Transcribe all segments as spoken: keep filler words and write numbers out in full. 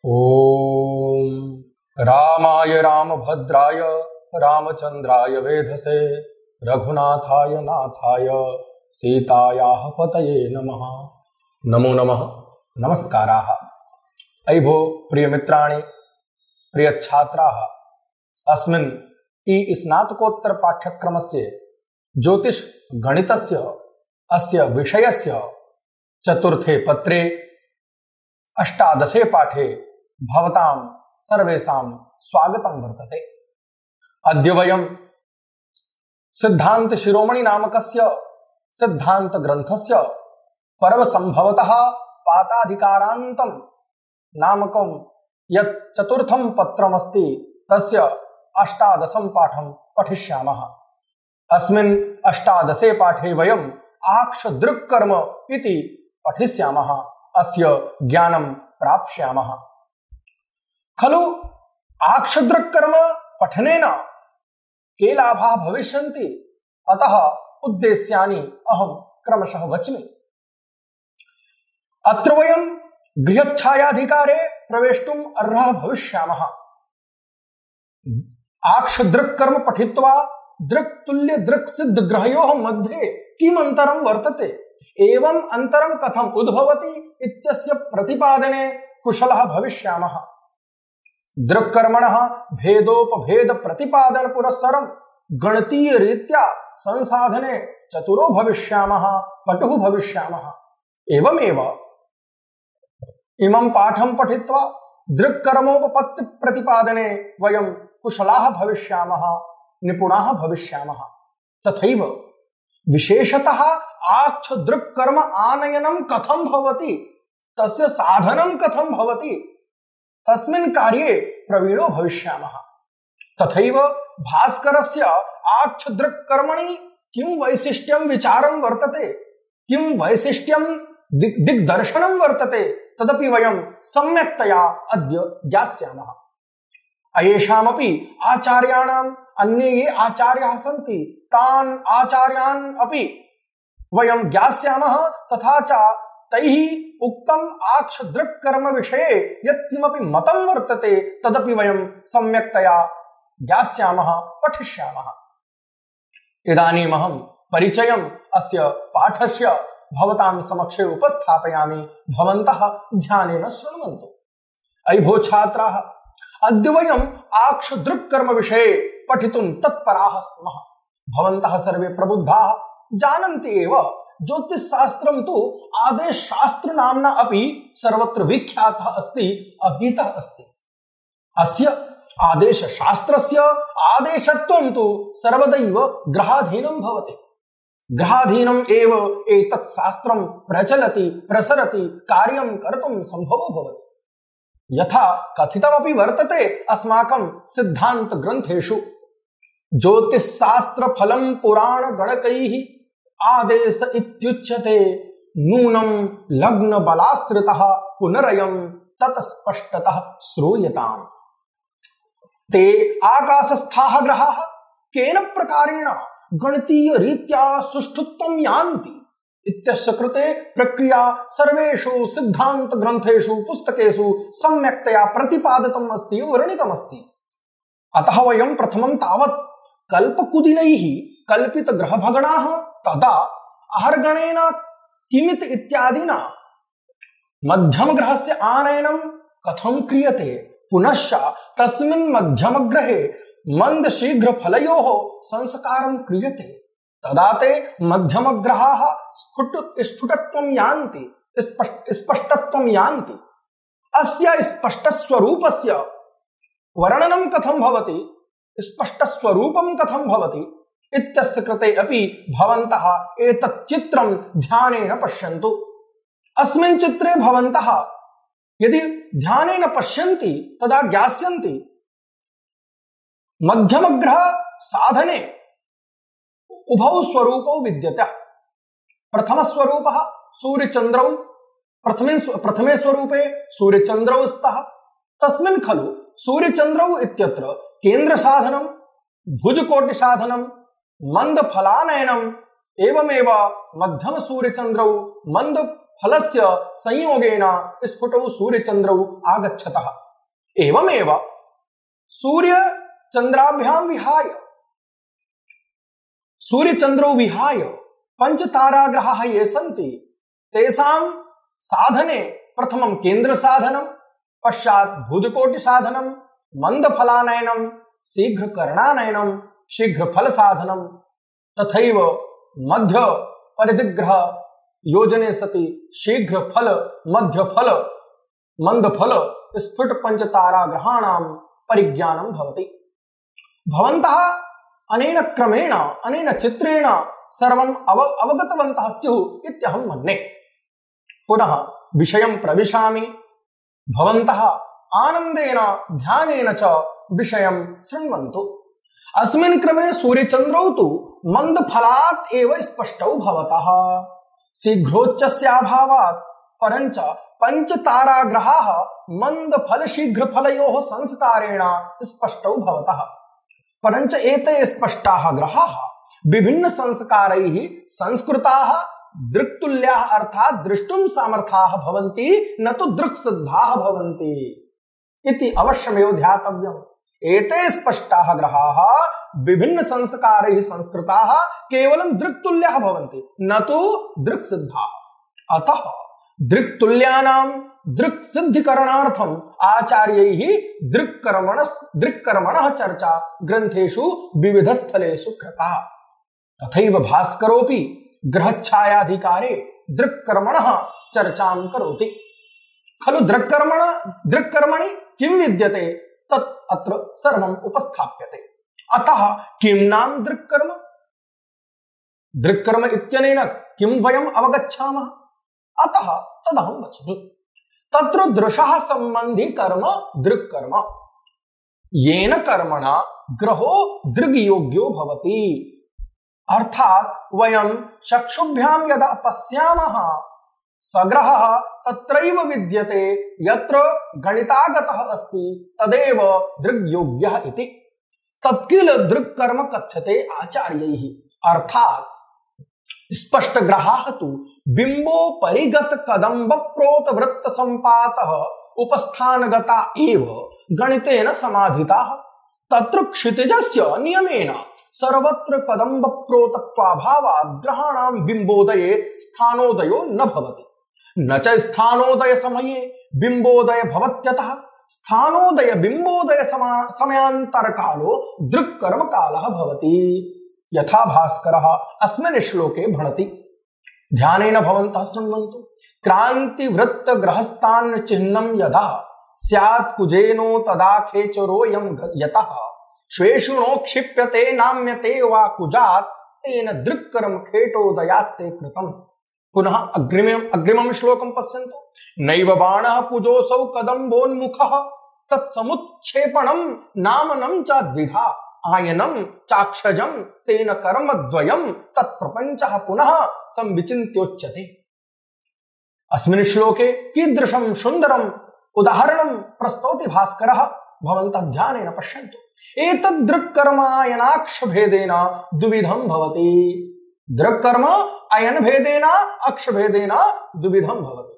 ओम रामाय रामभद्राय रामचंद्राय वेधसे रघुनाथाय नाथाय सीतायाः पतये नमः। नमो नमः। नमस्काराः। अयि भो प्रिय मित्राणि, प्रिय छात्राः, अस्मिन् ई स्नातकोत्तर पाठ्यक्रमस्य ज्योतिष गणितस्य अस्य विषयस्य चतुर्थे पत्रे अष्टादशे पाठे भवतां सर्वेषां स्वागतं वर्तते। अद्य वयं सिद्धांत शिरोमणि नामकस्य सिद्धांत ग्रन्थस्य पर्वसंभवतः पाताधिकारान्तं नामकं यत् चतुर्थं पत्रमस्ति तस्य अष्टादशं पाठं पठिष्यामः। अस्मिन् अष्टादशे पाठे वयम् आक्षदृक्कर्म इति पठिष्यामः, अस्य ज्ञानं प्राप्स्यामः। खलु आक्षदृक्कर्म पठनेन के लाभाः भविष्यन्ति, अतः उद्देश्यानि अहं क्रमशः वच्मि। अत्र वयं गृहच्छायाधिकारे प्रवेष्टुम् अर्हः भविष्यामः। आक्षदृक्कर्म पठित्वा दृक् तुल्य दृक् सिद्ध ग्रहयोः मध्ये किम् अंतरं वर्तते, एवं अंतरं कथम् उद्भवति इत्यस्य प्रतिपादने कुशलः भविष्यामः। दृक्कर्मणः भेदोपभेद प्रतिपादन पुरस्सरं गणतीय रीत्या संसाधने चतुरो भविष्यामः, पटुः भविष्यामः। एवमेव इमं पाठं पठित्वा दृक्कर्मोपपत्ति प्रतिपादने वयं कुशलाः भविष्यामः, निपुणाः भविष्यामः। तथैव विशेषतः आक्षदृक्कर्म आनयनं कथं भवति, तस्य साधनं कथं भवति, तस्मिन् कार्ये प्रवीणो भविष्यामः। तथैव भास्करस्य आक्षदृक्कर्मणि किं वैशिष्ट्यं विचारं वर्तते, किं वैशिष्ट्यं दिक् दिग्दर्शनं वर्तते, तदपि वयं सम्यक्तया अद्य ज्ञास्यामः। अयेषामपि आचार्याणाम् अन्ये ये आचार्याः सन्ति तान् आचार्यान् अपि वयं ज्ञास्यामः, तथा च तैः उक्तम् आक्षदृक्कर्म विषये यत् किमपि मतं वर्तते तदपि वयं सम्यक्तया ज्ञास्यामः, पठिष्यामः। इदानीमहं परिचयम् अस्य पाठस्य भवतां समक्षे उपस्थापयामि, भवन्तः ध्यानेन शृण्वन्तु। अयि भो छात्राः, अद्य वयम् आक्षदृक्कर्म विषये पठितुं तत्पराः स्मः। भवन्तः सर्वे प्रबुद्धाः जानन्ति एव, ज्योतिषशास्त्रं तु आदेशशास्त्र नाम्ना अपि सर्वत्र विख्यातः अस्ति, अधीतः अस्ति। अस्य आदेशशास्त्रस्य आदेशत्वं तु सर्वदैव ग्रहाधीनं भवति। ग्रहाधीनम् एव एतत् शास्त्रं प्रचलति, प्रसरति, कार्यं कर्तुं सम्भवो भवति। यथा कथितमपि वर्तते अस्माकं सिद्धांत ग्रंथेषु, ज्योतिषशास्त्र फलं पुराण गणकैः आदेश इत्युच्यते, नूनं लग्न बलाश्रितः पुनरयं तत्स्पष्टतः श्रूयताम्। ते आकाशस्थाः ग्रहाः केन प्रकारेण गणतीय रीत्या सुष्ठुत्वं यान्ति इत्यस्य कृते प्रक्रिया सर्वेषु सिद्धांत ग्रंथेषु पुस्तकेषु सम्यक्तया प्रतिपादितम् अस्ति, वर्णितम् अस्ति। अतः वयं प्रथमं तावत् कल्पकुदिनैः कल्पित ग्रहभगणाः, तदा आहर्गणेन किमिति इत्यादिना मध्यम ग्रहस्य आनयनं कथं क्रियते, पुनश्च तस्मिन् मध्यम ग्रहे मंद शीघ्र फलयोः संस्कारं क्रियते, तदा ते मध्यम ग्रहाः स्फुट स्फुटत्वं यान्ति, स्पष्ट स्पष्टत्वं यान्ति। अस्य स्पष्ट स्वरूपस्य वर्णनं कथं भवति, स्पष्ट स्वरूपं कथं भवति इत्यस्य कृते अपि भवन्तः एतत् चित्रं ध्यानेन पश्यन्तु। अस्मिन् चित्रे भवन्तः यदि ध्यानेन पश्यन्ति तदा ज्ञास्यन्ति मध्यम ग्रह साधने उभौ स्वरूपौ विद्यते। प्रथम स्वरूपः सूर्यचन्द्रौ, प्रथमे प्रथमे स्वरूपे सूर्यचन्द्रौ स्तः। तस्मिन् खलु सूर्यचन्द्रौ इत्यत्र केन्द्र साधनं, भुजकोटि साधनं, मंद फलानयनम्, एवमेव मध्यम सूर्यचन्द्रौ मंद फलस्य संयोगेन स्फुटौ सूर्यचन्द्रौ आगच्छतः। एवमेव सूर्यचन्द्राभ्यां विहाय सूर्यचन्द्रौ विहाय पंचताराग्रहाः ये सन्ति तेषां साधने प्रथमं केन्द्र साधनं, पश्चात् भूतकोटि साधनं, मंदफलानयनं, शीघ्रकरणानयनं, शीघ्रफल साधनं, तथैव मध्य परिधिग्रह योजने सति शीघ्रफल, मध्यफल, मंदफल, स्फुट पंचताराग्रहाणां परिज्ञानं भवति। भवन्तः अनेन क्रमेण अनेन चित्रेण सर्वं अव अवगतवन्तः स्युः इत्यहं मन्ये। पुनः विषयं प्रविशामि। भवन्तः आनन्देन ध्यानेन च विषयं शृण्वन्तु। अस्मिन् क्रमे सूर्यचन्द्रौ तु मन्दफलात् एव स्पष्टौ भवतः। शीघ्रोच्चस्याभावात् परञ्च पञ्चताराग्रहाः मन्दफल शीघ्रफलयोः संस्कारेण स्पष्टौ भवतः। परञ्च एते स्पष्टाः ग्रहाः विभिन्न संस्कारैः संस्कृताः दृक्तुल्याः अर्थात् द्रष्टुं समर्थाः भवन्ति, न तु दृक्सिद्धाः भवन्ति इति अवश्यमेव ध्यातव्यम्। एते स्पष्टाः ग्रहाः विभिन्न संस्कारैः संस्कृताः केवलं दृक्तुल्याः भवन्ति, न तु दृक्सिद्धाः। अतः दृक्तुल्यानां दृक्सिद्धिकरणार्थम् आचार्यैः दृक्कर्मण दृक्कर्मणः चर्चा ग्रन्थेषु विविधस्थलेषु कृता। तथैव भास्करोऽपि ग्रहच्छायाधिकारे दृक्कर्मणः चर्चां करोति खलु। दृक्कर्मण दृक्कर्मणि किं विद्यते तत् अत्र सर्वम् उपस्थाप्यते। अतः किं नाम दृक्कर्म? दृक्कर्म इत्यनेन किं वयम् अवगच्छामः? अतः तदहं वच्मि। तत्र दृशः संबंधी कर्म दृक्कर्म, येन कर्मणा ग्रहो दृग्योग्यो भवति। अर्थात वयं चक्षुभ्यां यदा पश्यामः सग्रहः तत्रैव विद्यते, यत्र गणितागतः अस्ति तदेव दृग्योग्यः इति। तत्किल दृक्कर्म कथ्यते आचार्यैः। अर्थात स्पष्ट ग्रहाः तु बिंबोपरिगत कदम्ब प्रोत वृत्त संपातः उपस्थानगता एव गणितेन समाधिताः। तत्र क्षितिजस्य नियमेन सर्वत्र कदम्ब प्रोतत्वाभावात् ग्रहाणां बिंबोदये स्थानोदयो न भवति। न च स्थानोदय समये बिंबोदय भवत्यतः स्थानोदय बिंबोदय समयांतर कालो दृक्कर्म कालः भवति। यथा भास्करः अस्मिन् श्लोके भणति। ध्यानेन भवन्तः शृण्वन्तु। क्रांति वृत्त ग्रहस्थान चिह्नं यदा स्यात् कुजेनो तदा खेचरोऽयं यतः श्वेषुणो क्षिप्यते नाम्यते वा कुजात् तेन दृक्कर्म खेटोदयास्ते कृतम्। पुनः अग्रिमम् अग्रिमं श्लोकं पश्यन्तु। नैव बाणः कुजोऽसौ कदम्बोन्मुखः तत्समुत्क्षेपणं नामनं च द्विधा आयनं चाक्षजं तेन कर्मद्वयं तत्प्रपञ्चः पुनः संविचिन्त्योच्यते। अस्मिन् श्लोके कीदृशं सुन्दरम् उदाहरणं प्रस्तौति भास्करः। भवन्तः ध्यानेन पश्यन्तु। एतद् दृक्कर्मायनाक्ष भेदेन द्विविधं भवति। दृक्कर्म अयन भेदेन अक्ष भेदेन द्विविधं भवति।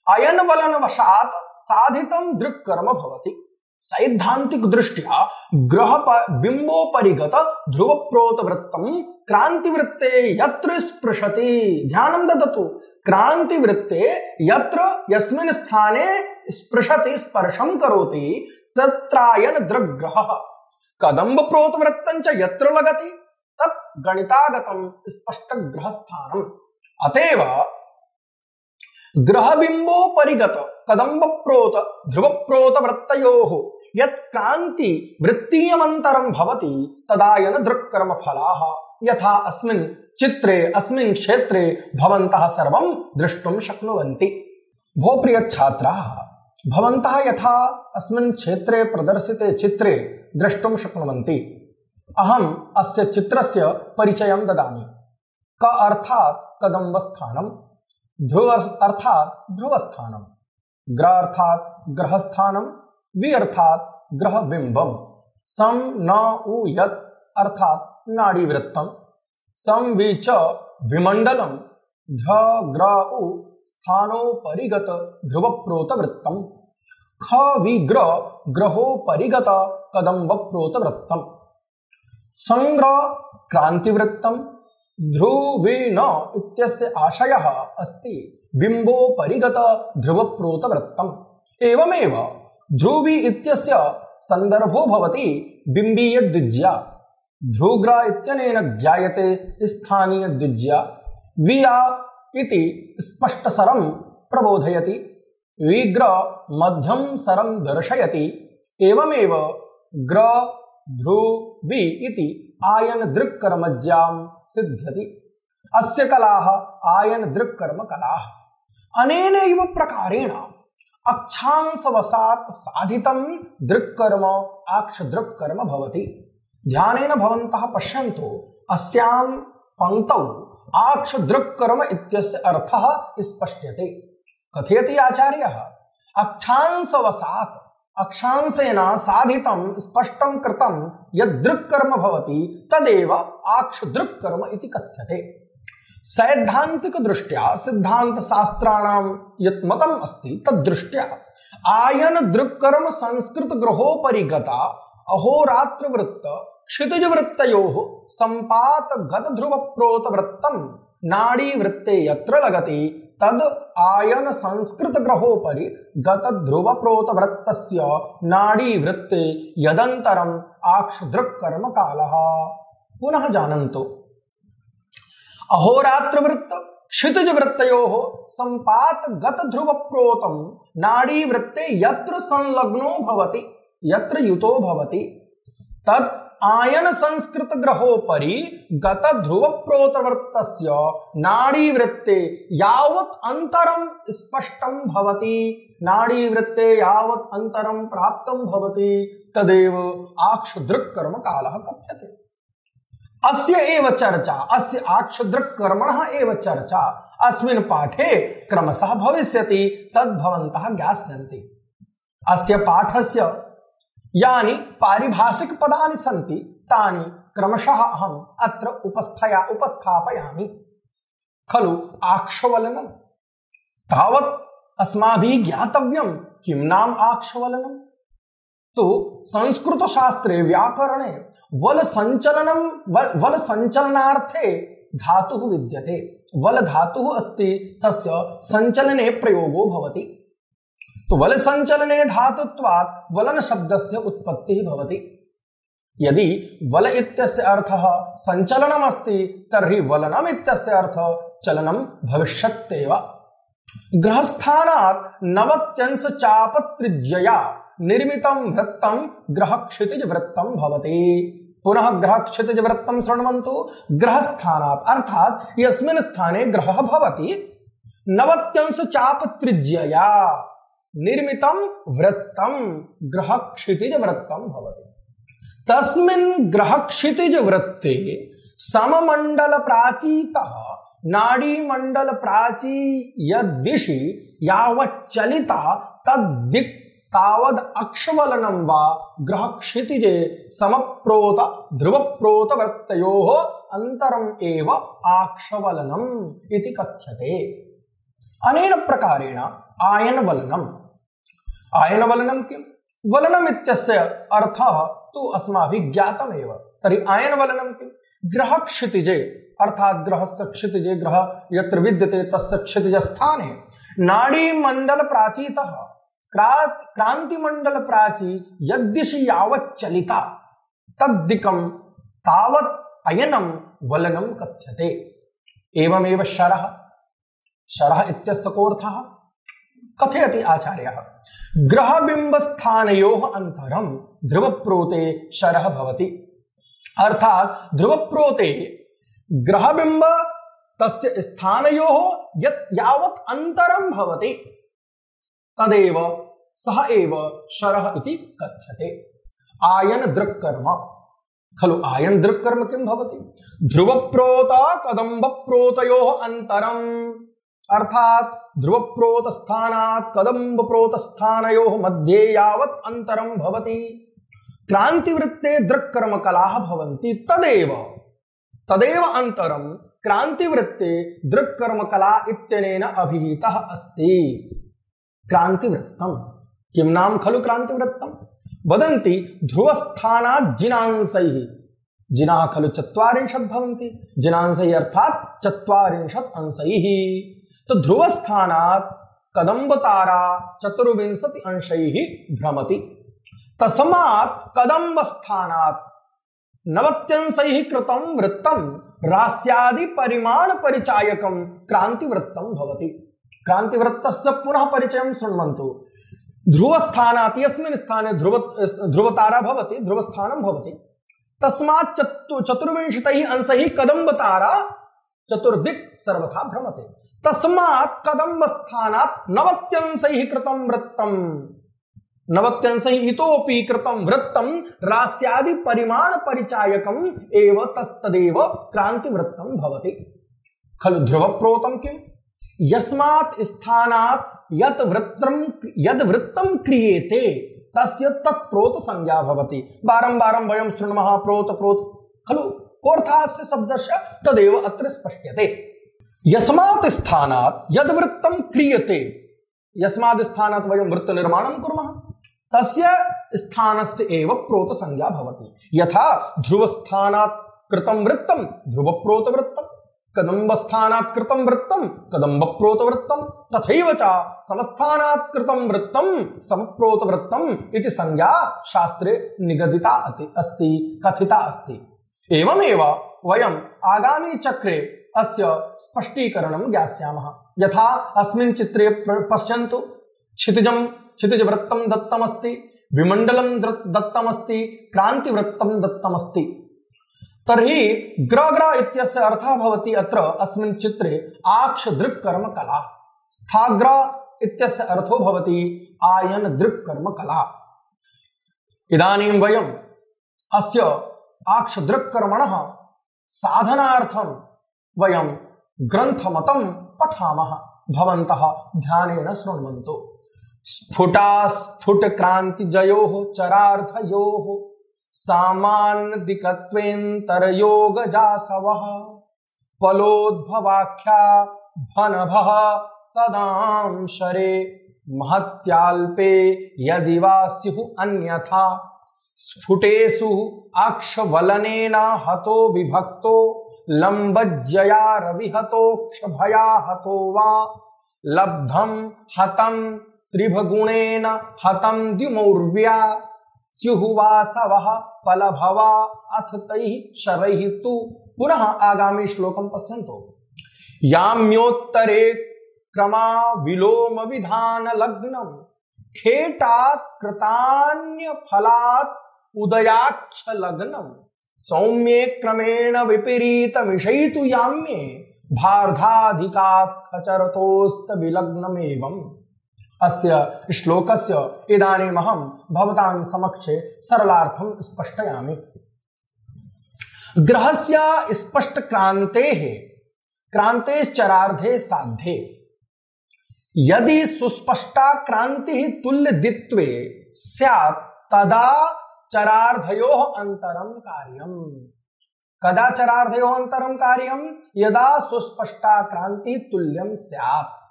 अयन वलन वशात् साधितं दृक्कर्म भवति। सैद्धांतिक दृष्ट्या ग्रह बिंबोपरिगत ध्रुव प्रोत वृत्तं क्रांति वृत्ते यत्र स्पृशति। ध्यानं ददतु। क्रांति वृत्ते यत्र यस्मिन् स्थाने स्पृशति स्पर्शं करोति तत्रायन दृग्ग्रहः। कदम्ब प्रोत वृत्तं च यत्र लगति तत् गणितागतं स्पष्ट ग्रहस्थानम्। अतएव ग्रह बिंबो परिगत कदम्ब प्रोत ध्रुव प्रोत वृत्तयोः यत् क्रांति वृत्तीयमन्तरं भवति तदायन दृक्कर्म फलाः। यथा अस्मिन् चित्रे अस्मिन् क्षेत्रे भवन्तः सर्वं द्रष्टुं शक्नुवन्ति। भो प्रिय छात्राः, भवन्तः यथा अस्मिन् क्षेत्रे प्रदर्शिते चित्रे द्रष्टुं शक्नुवन्ति। अहम् अस्य चित्रस्य परिचयं ददामि। क अर्थात् कदम्बस्थानं, ध्रुव अर्थात् ध्रुवस्थानं, ग्र अर्थात् ग्रहस्थानं, वि अर्थात् ग्रहबिंबं, सं न उ यत् अर्थात् नाड़ीवृत्तं, सं वि च विमंडलं, ध्र ग्र उ स्थानोपरिगत ध्रुवप्रोतवृत्तम्। ख विग्र ग्रहोपरिगत कदम्बप्रोतवृत्तम्। संग्रह क्रांतिवृत्तम्। ध्रुवेण इत्यस्य आशयः अस्ति बिम्बोपरिगत ध्रुवप्रोतवृत्तम्। एवमेव ध्रुवी इत्यस्य संदर्भो भवति बिम्बीयद्विज्या। ध्रुग्र इत्यनेन ज्ञायते स्थानीयद्विज्या। विया इति स्पष्टसरं प्रबोधयति। विग्र मध्यम सरं दर्शयति। एवमेव ग्र ध्रुवी इति आयन दृक्कर्मज्यां सिद्ध्यति। अस्य कलाः आयन दृक्कर्म कलाः। अनेनैव प्रकारेण अक्षांशवशात् साधितं दृक्कर्म आक्षदृक्कर्म भवति। ध्यानेन भवन्तः पश्यन्तु, अस्यां पंक्तौ आक्षदृक्कर्म इत्यस्य अर्थः स्पष्ट्यते। कथयति आचार्यः, अक्षांशवशात् अक्षांशेन साधितं स्पष्टं कृतं यद् दृक्कर्म भवति तदेव आक्षदृक्कर्म इति कथ्यते। सैद्धांतिक दृष्ट्या सिद्धांत शास्त्राणां यत् मतम् अस्ति तद्दृष्ट्या आयन दृक्कर्म संस्कृत ग्रहोपरिगता अहोरात्र वृत्त क्षितिज वृत्तयोः संपात गत ध्रुव प्रोत वृत्तम नाड़ी वृत्ते यत्र लगति तद आयन संस्कृत ग्रहोपरि गत ध्रुव प्रोत वृत्तस्य नाड़ी वृत्ते यदंतरम आक्षदृक्कर्म कालः। पुनः जानन्तु, अहोरात्र वृत्त क्षितिज वृत्तयोः संपात गत ध्रुव प्रोतम नाड़ी वृत्ते यत्र संलग्नो भवति यत्र युतो भवति तत् आयन संस्कृत ग्रहोपरि गत ध्रुव प्रोतवृत्तस्य नाड़ी वृत्ते यावत् अंतरं स्पष्टं भवति नाड़ी वृत्ते यावत् अंतरं प्राप्तं भवति तदेव आक्षदृक्कर्म कालः कथ्यते। अस्य एव चर्चा अस्य आक्षदृक्कर्मणः एव चर्चा अस्मिन् पाठे क्रमशः भविष्यति, तद् भवन्तः ज्ञास्यन्ति। अस्य पाठस्य यानि पारिभाषिक पदानि सन्ति तानि क्रमशः अहम् अत्र उपस्थया उपस्थापयामि। खलु आक्षवलनम् तावत् अस्माभिः ज्ञातव्यं किं नाम आक्षवलनम्। तो संस्कृत शास्त्रे व्याकरणे वल संचलनं वल संचलनार्थे धातुः विद्यते। वल धातुः अस्ति, तस्य संचलने प्रयोगो भवति। तो वल संचलने धातुत्वात् वलन शब्दस्य उत्पत्तिः भवति। यदि वल इत्यस्य अर्थः संचलनम् अस्ति तर्हि वलनम् इत्यस्य अर्थः चलनं भविष्यत्येव। ग्रहस्थानात् नवत्यंश चापत्रिज्यया निर्मितं वृत्तं ग्रहक्षितिज वृत्तं भवति। पुनः ग्रहक्षितिज वृत्तं शृण्वन्तु। ग्रहस्थानात् अर्थात् यस्मिन् स्थाने ग्रहः भवति नवत्यंश चापत्रिज्यया निर्मितं वृत्तं ग्रहक्षितिज वृत्तं भवति। तस्मिन् ग्रहक्षितिज वृत्ते सममण्डल प्राचीतः नाड़ी मंडल प्राची यद्दिशि यावच्चलिता तद्दिक् तावद् अक्षवलनं वा ग्रहक्षितिजे समप्रोत ध्रुवप्रोत वृत्तयोः अंतरम् एव आक्षवलनम् इति कथ्यते। अनेन प्रकारेण आयनवलनम् आयनवलनं किं? वलनम् इत्यस्य अर्थः तु अस्माभिः ज्ञातमेव। तर्हि आयनवलनं किं? ग्रहक्षितिजे अर्थात् ग्रहस्य क्षितिजे ग्रह यत्र विद्यते तस्य क्षितिज स्थाने नाड़ी मंडल प्राचीतः क्रांति मंडल प्राची यद्दिशि यावत् चलिता तद्दिकं तावत् अयनं वलनं कथ्यते। एवमेव शरः शरः इत्यस्य कोऽर्थः कथयति आचार्यः। ग्रहबिंब स्थानयोः अंतरं ध्रुवप्रोते शरः भवति। अर्थात् ध्रुवप्रोते ग्रहबिंब तस्य स्थानयोः यत् यावत् अंतरं भवति तदेव सः एव शरः इति कथ्यते। आयन दृक्कर्म खलु आयन दृक्कर्म किं भवति? ध्रुवप्रोत कदम्बप्रोतयोः अंतरम् अर्थात् ध्रुवप्रोत स्थानात् कदम्बप्रोत स्थानयोः मध्ये यावत् अंतरं भवति क्रांतिवृत्ते दृक्कर्म कलाः भवन्ति तदेव तदेव अंतरम क्रांतिवृत्ते दृक्कर्मकला इत्यनेन अभिहितः अस्ति। क्रांतिवृत्तम किं नाम खलु क्रांतिवृत्तम? वदन्ति ध्रुवस्थानात् जिनांसैः, जिनाः खलु चत्वारिंशत् भवन्ति, जिनांसैः अर्थात् चत्वारिंशत् अंशैः। तो ध्रुवस्थानात् कदम्बतारा चतुर्विंशति अंशैः भ्रमति, तस्मात् कदम्बस्थानात् नवत्यंशैः कृतं वृत्तं रास्यादि परिमाण परिचायकं क्रांतिवृत्तं भवति। क्रांतिवृत्तस्य पुनः परिचयं शृण्वन्तु। ध्रुवस्थानात् यस्मिन् स्थाने ध्रुव ध्रुवतारा भवति, ध्रुवस्थानं भवति, तस्मात् चतु चतुर्विंशतिः अंशैः कदम्बतारा चतुर्दिक् सर्वथा भ्रमते। तस्मात् कदम्बस्थानात् नवत्यंशैः कृतं वृत्तं, नवत्यंशैः इतोपि कृतं वृत्तं रास्यादि परिमाण परिचायकम् एव तस्तदेव क्रांतिवृत्तं भवति। खलु ध्रुवप्रोतं किम्? यस्मात् स्थानात् यत् वृत्तं यद् वृत्तं क्रियेते तस्य तत्प्रोत संज्ञा भवति। बारंबारं वयं शृण्मः प्रोत प्रोत, खलु कोऽर्थास्य शब्दस्य तदेव अत्र स्पष्ट्यते। यस्मात् स्थानात् यद् वृत्तं क्रियते, यस्मात् स्थानात् वयं वृत्त निर्माणं कुर्मः, तस्य स्थानस्य एव प्रोत संज्ञा भवति। यथा ध्रुवस्थानात् कृतं वृत्तं ध्रुवप्रोतवृत्तं, कदम्बस्थानात् कृतं वृत्तं कदम्बप्रोतवृत्तं, तथैव च समस्थानात् कृतं वृत्तं समप्रोतवृत्तम् इति संज्ञा शास्त्रे निगदिता अस्ति, कथिता अस्ति। एवमेव वयम् आगामी चक्रे अस्य स्पष्टीकरणं ज्ञास्यामः। यथा अस्मिन् चित्रे पश्यन्तु, क्षितिजं क्षितिजवृत्तं दत्तमस्ति, विमण्डलं दत्तमस्ति, क्रांतिवृत्तं दत्तमस्ति। तर्हि ग्र ग्र इत्यस्य अर्थः भवति अत्र अस्मिन् चित्रे आक्ष दृक् कर्म कला, स्थाग्र इत्यस्य अर्थो भवति आयन दृक् कर्म कला। इदानीं वयम् अस्य आक्ष दृक् कर्मणः साधनार्थं वयं ग्रन्थमतं पठामः। भवन्तः ध्यानेन शृण्वन्तु। स्फुटास्फुट क्रांतिजयोः चरार्धयोः सामान्यदिकत्वेन्तरयोगजासवः फलोद्भवाख्या भनभः सदांशरे महत्याल्पे यदि वा स्युः अन्यथा स्फुटेषु अक्षवलनेन हतो विभक्तो लम्बज्जया रविहतो क्षभया हतो वा लब्धं हतं त्रिभगुणेन हतं द्युमौर्व्या स्युः वासवः फलभवा अथ तैः शरैः तु। पुनः आगामी श्लोकं पश्यन्तु। याम्योत्तरे क्रमा विलोम विधान लग्नं खेटात् कृतान्य फलात् उदयाक्ष लग्नं सौम्ये क्रमेण विपरीत विषयितु याम्ये भार्धाधिकात् खचरतोस्त विलग्नमेवम्। अस्य श्लोकस्य इदानीमहं भवतां समक्षे सरलार्थं स्पष्टयामि। ग्रहस्य स्पष्ट क्रान्तेः क्रान्तेश्चरार्धे साध्ये यदि सुस्पष्टा क्रांतिः तुल्यदित्वे स्यात् तदा चरार्धयोः अंतरं कार्यम्। कदा चरार्धयोः अंतरं कार्यम्? यदा सुस्पष्टा क्रांति तुल्यं स्यात्।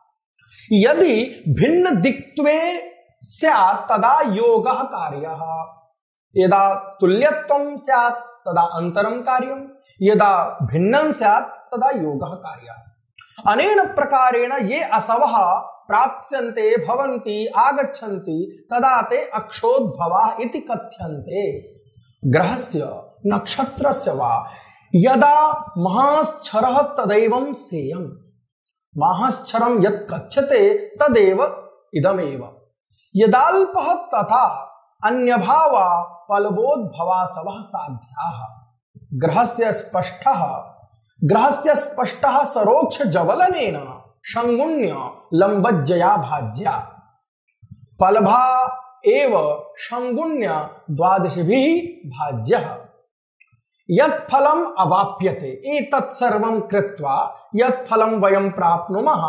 यदि भिन्न दिक्त्वे स्यात् तदा योगः कार्यः। यदा तुल्यत्वं स्यात् तदा अंतरं कार्यम्, यदा भिन्नं स्यात् तदा योगः कार्यः। अनेन प्रकारेण ये असवः प्राप्स्यन्ते भवन्ति आगच्छन्ति तदा ते अक्षोद्भवाः इति कथ्यन्ते। ग्रहस्य नक्षत्रस्य वा यदा महाश्चरः तदैवं सेयम्। महाश्चरं यत् कथ्यते तदेव इदमेव। यदाल्पः तथा अन्यभावा फलबोद्भवासवः साध्याः। ग्रहस्य स्पष्टः ग्रहस्य स्पष्टः सरोक्ष जवलनेन शंगुण्य लंबज्जया भाज्या फलभा एव शंगुण्य द्वादशभिः भाज्यः। यत् फलम् अवाप्यते एतत् सर्वं कृत्वा यत् फलं वयं प्राप्नुमः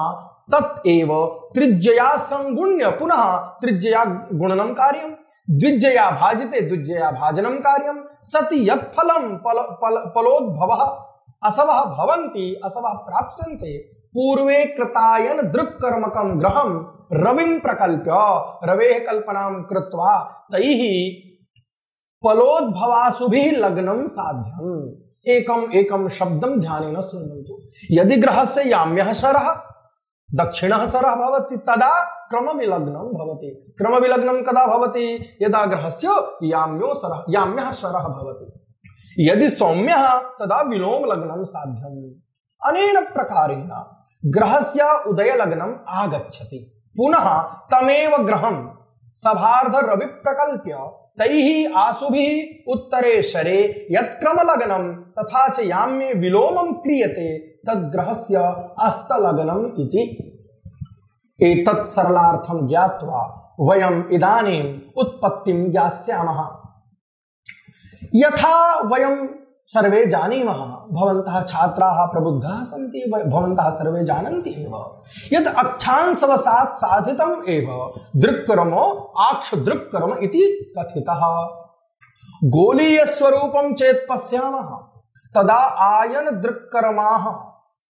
तत् एव त्रिज्यया संगुण्य पुनः त्रिज्यया गुणनं कार्यं, द्विज्यया भाजते द्विज्यया भाजनं कार्यं। सति यत् फलं फल फल फलोद्भवः असवः भवन्ति असवः प्राप्स्यन्ते पूर्वे कृतायन दृक्कर्मकं ग्रहं रविं प्रकल्प्य रवेः कल्पनां कृत्वा तैः फलोद्भवासुभिः लग्नं साध्यम्। एकम् एकं शब्दं ध्यानेन शृण्वन्तु। यदि ग्रहस्य याम्यः शरः दक्षिणः शरः भवति तदा क्रमविलग्नं भवति। क्रमविलग्नं कदा भवति? यदा ग्रहस्य याम्यो शरः याम्यः शरः भवति। यदि सौम्यः तदा विलोम लग्नं साध्यम्। अनेन प्रकारेण ग्रहस्य उदय लग्नम् आगच्छति। पुनः तमेव ग्रहं सभार्ध रवि प्रकल्प्य तैः आशुभिः उत्तरे शरे यत्क्रम लग्नं तथा च याम्ये विलोमं क्रियते तद्ग्रहस्य अस्तलग्नम् इति। एतत् सरलार्थं ज्ञात्वा वयम् इदानीम् उत्पत्तिं ज्ञास्यामः। यथा वयं सर्वे जानीमः, भवन्तः छात्राः प्रबुद्धाः सन्ति, भवन्तः सर्वे जानन्ति एव यत् अक्षांशवशात् साधितम् एव दृक्कर्मो आक्ष दृक्कर्म इति कथितः। गोलीय स्वरूपं चेत् पश्यामः तदा आयन दृक्कर्माः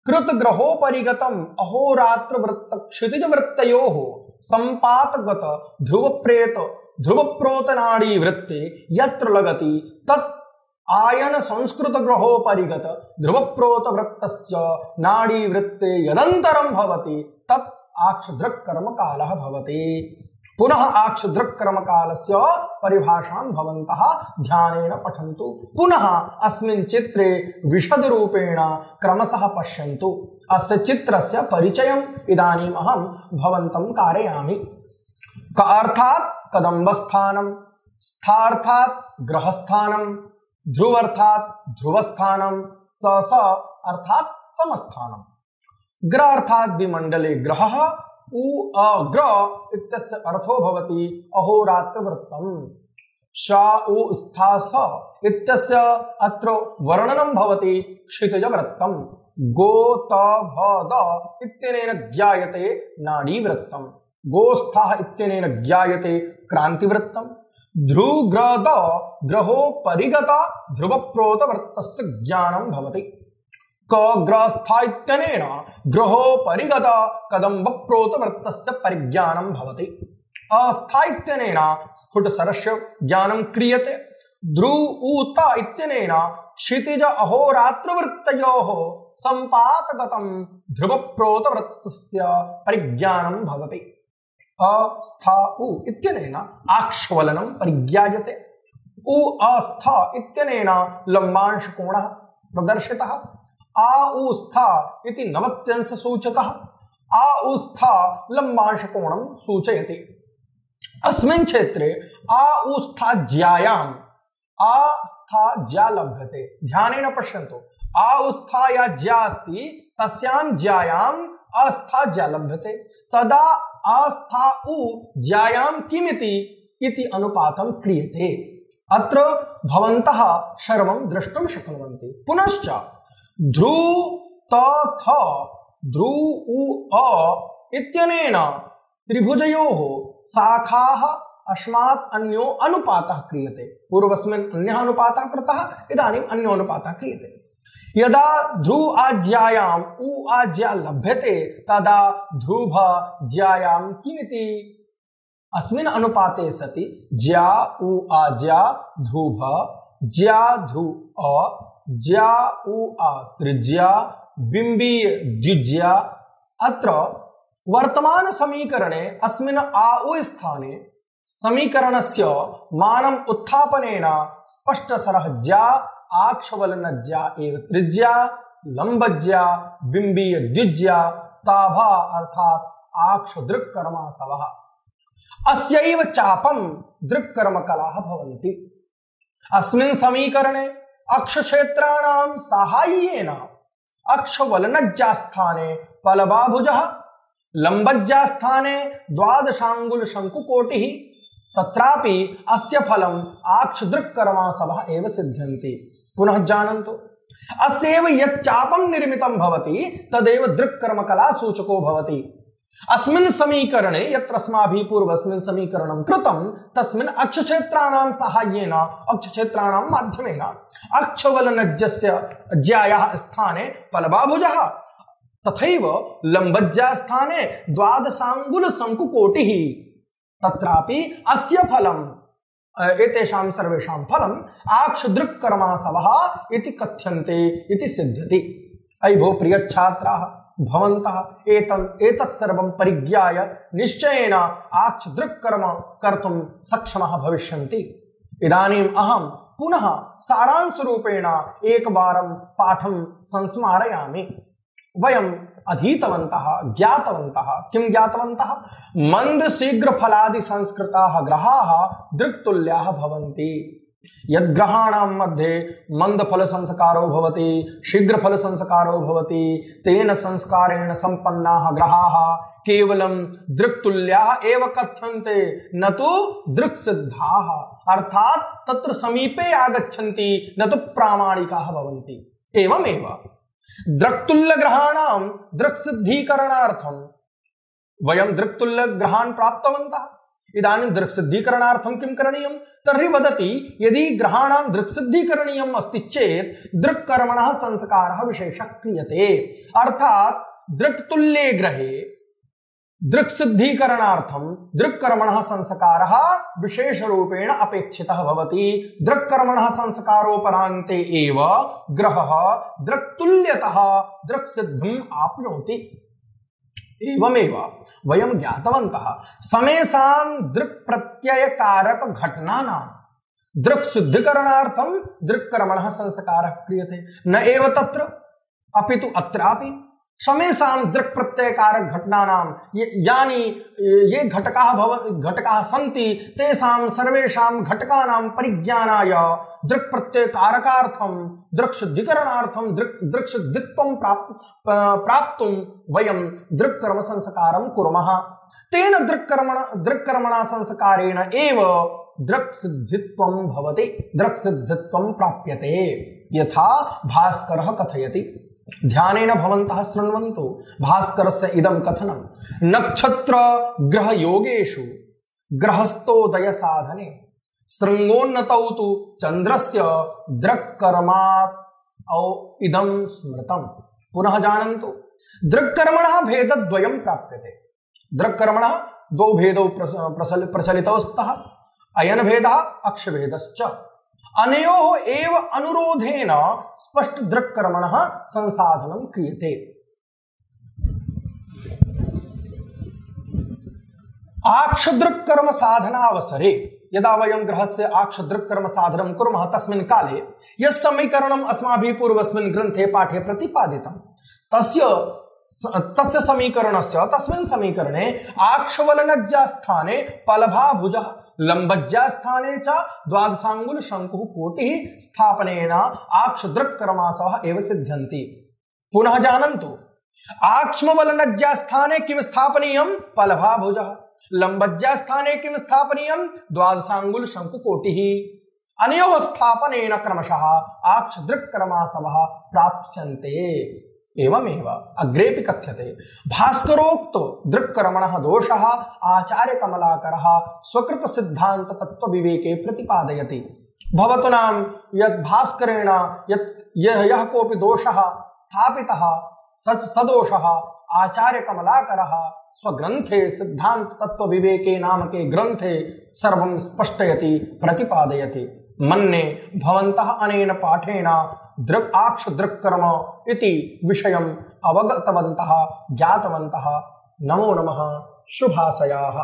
कृतग्रहोपरिगतम् अहोरात्र वृत्त क्षितिज वृत्तयोः संपातगत ध्रुवप्रेत ध्रुवप्रोतनाड़ी वृत्ते यत्र लगति तत् आयन संस्कृत ग्रहोपरिगत ध्रुवप्रोत वृत्तस्य नाड़ी वृत्ते यदन्तरं भवति तत् आक्षदृक्कर्म कालः भवति। पुनः आक्षदृक्कर्म कालस्य परिभाषां भवन्तः ध्यानेन पठन्तु। पुनः अस्मिन् चित्रे विशद रूपेण क्रमशः पश्यन्तु। अस्य चित्रस्य परिचयम् इदानीम् अहं भवन्तं कारयामि। क अर्थात् कदम्बस्थानं, स्थार्थात् ग्रहस्थानं, ध्रुवर्थात् ध्रुवस्थानं, स स अर्थात् समस्थानं। ग्र अर्थात् विमंडले ग्रहः, उ अग्र इत्यस्य अर्थो भवति अहोरात्र वृत्तम्। श उ स्था स इत्यस्य अत्र वर्णनं भवति क्षितिज वृत्तम्। गो त भ द इत्यनेन ज्ञायते नाड़ी वृत्तम्। गोस्थः इत्यनेन ज्ञायते क्रांतिवृत्तम्। ध्रुग्रद ग्रहो परिगत ध्रुवप्रोत वृत्तस्य ज्ञानं भवति। क ग्रस्था इत्यनेन ग्रहो परिगत कदम्ब प्रोत वृत्तस्य परिज्ञानं भवति। अस्था इत्यनेन स्फुटशरस्य ज्ञानं क्रियते। ध्रु ऊत इत्यनेन क्षितिज अहोरात्र वृत्तयोः संपातगतं ध्रुवप्रोत वृत्तस्य परिज्ञानं भवति। अस्था उ इत्यनेन आक्षवलनं परिज्ञायते। उ अस्था इत्यनेन लंबांश कोणः प्रदर्शितः। आ उ स्था इति नवत्यंश सूचकः। आ उ स्था लंबांश कोणं सूचयति। अस्मिन् क्षेत्रे आ उ स्था ज्यायाम् आ स्था ज्या लभ्यते। ध्यानेन पश्यन्तु। आ उ स्था या ज्या अस्ति तस्यां ज्यायाम् अस्था ज्या लभ्यते। तदा अस्था उ ज्यायां किमिति इति अनुपातं क्रियते। अत्र भवन्तः सर्वं द्रष्टुं शक्नुवन्ति। पुनश्च ध्रु त थ ध्रु उ अ इत्यनेन त्रिभुजयोः शाखाः अस्मात् अन्यो अनुपातः क्रियते। पूर्वस्मिन् अन्यः अनुपातः कृतः, इदानीम् अन्यो अनुपातः क्रियते। यदा ध्रु आज्यायाम् उ आज्या लभ्यते तदा ध्रुव ज्यायां किमिति? अस्मिन् अनुपाते सति ज्या उ आज्या ध्रुव ज्या ध्रु अ ज्या उ आ त्रिज्या बिंबीय द्विज्या। अत्र वर्तमान समीकरणे अस्मिन् आ उ स्थाने समीकरणस्य मानम् उत्थापनेन स्पष्टशरः ज्या आक्षवलनज्या एव त्रिज्या लंबज्या बिंबीय द्विज्या ताभा अर्थात् आक्ष दृक्कर्मासवः। अस्यैव चापं दृक्कर्मकलाः भवन्ति। अस्मिन् समीकरणे अक्षक्षेत्राणां साहाय्येन अक्षवलनज्यास्थाने पलबाभुजः, लंबज्यास्थाने द्वादशांगुल शंकुकोटिः, तत्रापि अस्य फलम् आक्षदृक्कर्मासवः एव सिद्ध्यन्ति। पुनः जानन्तु, अस्यैव यच्चापं निर्मितं भवति तदेव दृक्कर्मकला सूचको भवति। अस्मिन् समीकरणे यत्र अस्माभिः पूर्वस्मिन् समीकरणं कृतं तस्मिन् अक्षक्षेत्राणां साहाय्येन अक्षक्षेत्राणां माध्यमेन अक्षवलनज्यस्य ज्यायाः स्थाने पलवाभुजः तथैव लम्बज्यास्थाने द्वादशाङ्गुलशङ्कुकोटिः तत्रापि अस्य फलम् एतेषां सर्वेषां फलम् आक्षदृक्कर्मासवः इति कथ्यन्ते इति सिद्ध्यति। अयि भो प्रिय छात्राः, भवन्तः एतत् एतत् सर्वं परिज्ञाय निश्चयेन आक्षदृक्कर्म कर्तुं सक्षमः भविष्यन्ति। इदानीम् अहं पुनः सारांशरूपेण एकवारं पाठं संस्मारयामि। वयम् अधीतवन्तः, ज्ञातवन्तः, किं ज्ञातवन्तः? मंद शीघ्र फलादि संस्कृताः ग्रहाः दृक्तुल्याः भवन्ति। यद् ग्रहाणां मध्ये मंद फल संस्कारो भवति, शीघ्र फल संस्कारो भवति, तेन संस्कारेण संपन्नाः ग्रहाः केवलं दृक्तुल्याः एव कथ्यन्ते, न तु दृक्सिद्धाः। अर्थात् तत्र समीपे आगच्छन्ति, न तु प्रामाणिकाः भवन्ति। एवमेव दृक्तुल्य ग्रहाणां दृक्सिद्धीकरणार्थं वयं दृक्तुल्य ग्रहान् प्राप्तवन्तः। इदानीं दृक्सिद्धीकरणार्थं किं करणीयं? तर्हि वदति यदि ग्रहाणां दृक्सिद्धीकरणीयम् अस्ति चेत् दृक्कर्मणः संस्कारः विशेषः क्रियते। अर्थात् दृक्तुल्ये ग्रहे दृक्सिद्धीकरणार्थं दृक्कर्मणः संस्कारः विशेषरूपेण अपेक्षितः भवति। दृक्कर्मणः संस्कारोपरान्ते एव ग्रहः दृक्तुल्यतः दृक्सिद्धिम् आप्नोति। एवमेव वयं ज्ञातवन्तः समेषां दृक्प्रत्ययकारक घटनानां दृक्सिद्धिकरणार्थं दृक्कर्मणः संस्कारः क्रियते। न एव तत्र अपितु अत्रापि समेषां दृक्प्रत्ययकारक घटनानां यानि ये घटकाः भव घटकाः सन्ति तेषां सर्वेषां घटकानां परिज्ञानाय दृक्प्रत्ययकारकार्थं दृक्सिद्धिकरणार्थं दृक् दृक्सिद्धित्वं प्राप् प्राप्तुं वयं दृक्कर्म संस्कारं कुर्मः। तेन दृक्कर्मण दृक्कर्मणा संस्कारेण एव दृक्सिद्धित्वं भवति, दृक्सिद्धित्वं प्राप्यते। यथा भास्करः कथयति, ध्यानेन भवन्तः शृण्वन्तु। भास्करस्य इदं कथनं, नक्षत्र ग्रह योगेषु ग्रहस्थोदय साधने शृंगोन्नतौ तु चंद्रस्य दृक्कर्मात् औ इदं स्मृतम्। पुनः जानन्तु, दृक्कर्मणः भेदद्वयं प्राप्यते। दृक्कर्मणः द्वौ भेदौ प्रचलितौ स्तः, अयन भेदः अक्षभेदश्च। अनयोः एव अनुरोधेन स्पष्ट दृक्कर्मणः संसाधनं क्रियते। आक्षदृक्कर्म साधनावसरे यदा वयं ग्रहस्य आक्षदृक्कर्म साधनं कुर्मः तस्मिन् काले यत् समीकरणम् अस्माभिः पूर्वस्मिन् ग्रन्थे पाठे प्रतिपादितं तस्य तस्य समीकरणस्य तस्मिन् समीकरणे आक्षवलनज्यास्थाने पलभाभुजः लम्बज्यास्थाने च द्वादशाङ्गुल शङ्कुः कोटिः स्थापनेन आक्षदृक्कर्मासवः एव सिद्ध्यन्ति। पुनः जानन्तु, आक्ष्मवलनज्यास्थाने किं स्थापनीयं? पलभाभुजः। लम्बज्यास्थाने किं स्थापनीयं? द्वादशाङ्गुल शङ्कुकोटिः। अनयोः स्थापनेन क्रमशः आक्षदृक्कर्मासवः प्राप्स्यन्ते। एवमेव अग्रेपि कथ्यते, भास्करोक्त दृक्कर्मणः दोषः आचार्य कमलाकरः स्वकृत सिद्धांत तत्व विवेके प्रतिपादयति। भवतु नाम यत् भास्करेण यत् यह यह कोपि दोषः स्थापितः सच सदोषः आचार्य कमलाकरः स्वग्रन्थे सिद्धांत तत्व विवेके नामके ग्रन्थे सर्वं स्पष्टयति, प्रतिपादयति। मन्ये भवन्तः अनेन पाठेन दृक् आक्ष दृक्कर्म इति विषयम् अवगतवन्तः, ज्ञातवन्तः। नमो नमः, शुभाशयाः।